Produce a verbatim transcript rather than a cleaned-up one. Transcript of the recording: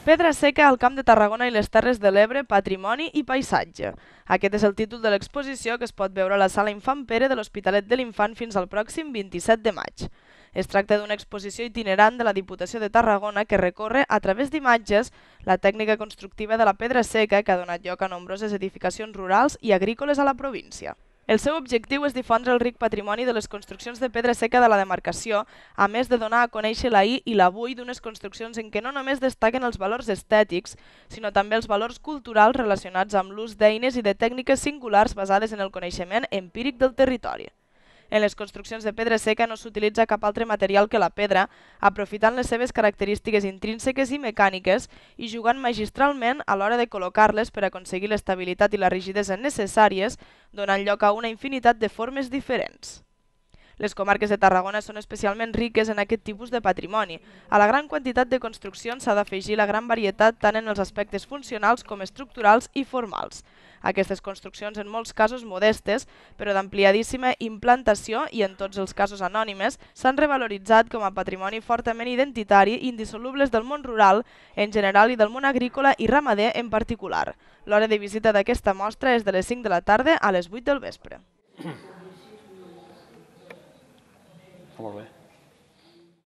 Pedra seca al Camp de Tarragona i les Terres de l'Ebre, patrimoni i paisatge. Aquest és el títol de l'exposició que es pot veure a la Sala Infant Pere de l'Hospitalet de l'Infant fins al pròxim vint-i-set de maig. Es tracta d'una exposició itinerant de la Diputació de Tarragona que recorre, a través d'imatges, la tècnica constructiva de la pedra seca que ha donat lloc a nombroses edificacions rurals i agrícoles a la província. El seu objectiu és difondre el ric patrimoni de les construccions de pedra seca de la demarcació, a més de donar a conèixer l'ahir i l'avui d'unes construccions en què no només destaquen els valors estètics, sinó també els valors culturals relacionats amb l'ús d'eines i de tècniques singulars basades en el coneixement empíric del territori. En les construccions de pedra seca no s'utilitza cap altre material que la pedra, aprofitant les seves característiques intrínseques i mecàniques i jugant magistralment a l'hora de col·locar-les per aconseguir l'estabilitat i la rigidesa necessàries, donant lloc a una infinitat de formes diferents. Les comarques de Tarragona són especialment riques en aquest tipus de patrimoni. A la gran quantitat de construccions s'ha d'afegir la gran varietat tant en els aspectes funcionals com estructurals i formals. Aquestes construccions, en molts casos modestes, però d'ampliadíssima implantació i en tots els casos anònimes, s'han revaloritzat com a patrimoni fortament identitari i indissolubles del món rural en general i del món agrícola i ramader en particular. L'hora de visita d'aquesta mostra és de les cinc de la tarda a les vuit del vespre. Molt bé.